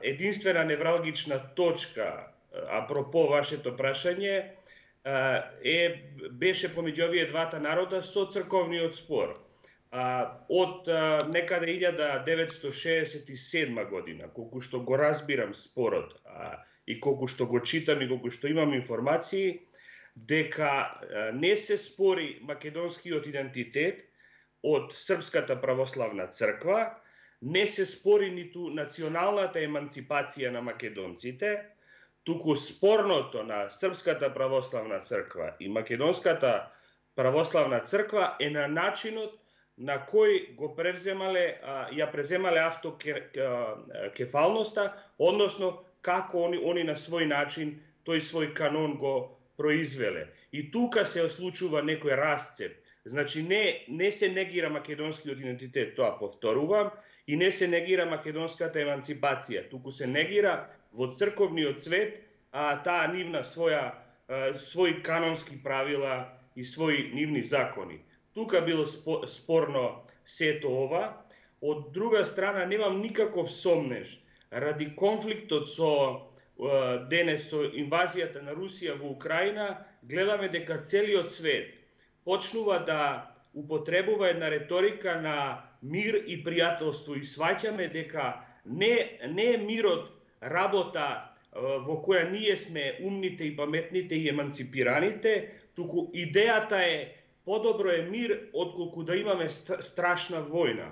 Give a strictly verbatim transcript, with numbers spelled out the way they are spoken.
Единствена невралгична точка, апропо вашето прашање, е беше помеѓу овие двата народа со црковниот спор. Од некаде илјада деветстотини шеесет и седма година, колку што го разбирам спорот и колку што го читам и колку што имам информации, дека не се спори македонскиот идентитет од Српската православна црква, не се спори ниту националната еманципација на македонците, туку спорното на Српската православна црква и Македонската православна црква е на начинот на кој го превземале, ја преземале автокефалноста, односно како они, они на свој начин тој свој канон го произвеле. И тука се случува некој расцеп. Значи не, не се негира македонскиот идентитет, тоа повторувам, и не се негира македонската еманципација, туку се негира во црковниот свет а, таа нивна своја, а, своји канонски правила и своји нивни закони. Тука било спорно сето ова. Од друга страна, немам никаков сомнеж, ради конфликтот со денес со инвазијата на Русија во Украина, гледаме дека целиот свет почнува да употребува една реторика на мир и пријателство и сваќаме дека не, не е мирот работа во која ние сме умните и паметните и еманципираните, туку идејата е подобро е мир отколку да имаме страшна војна.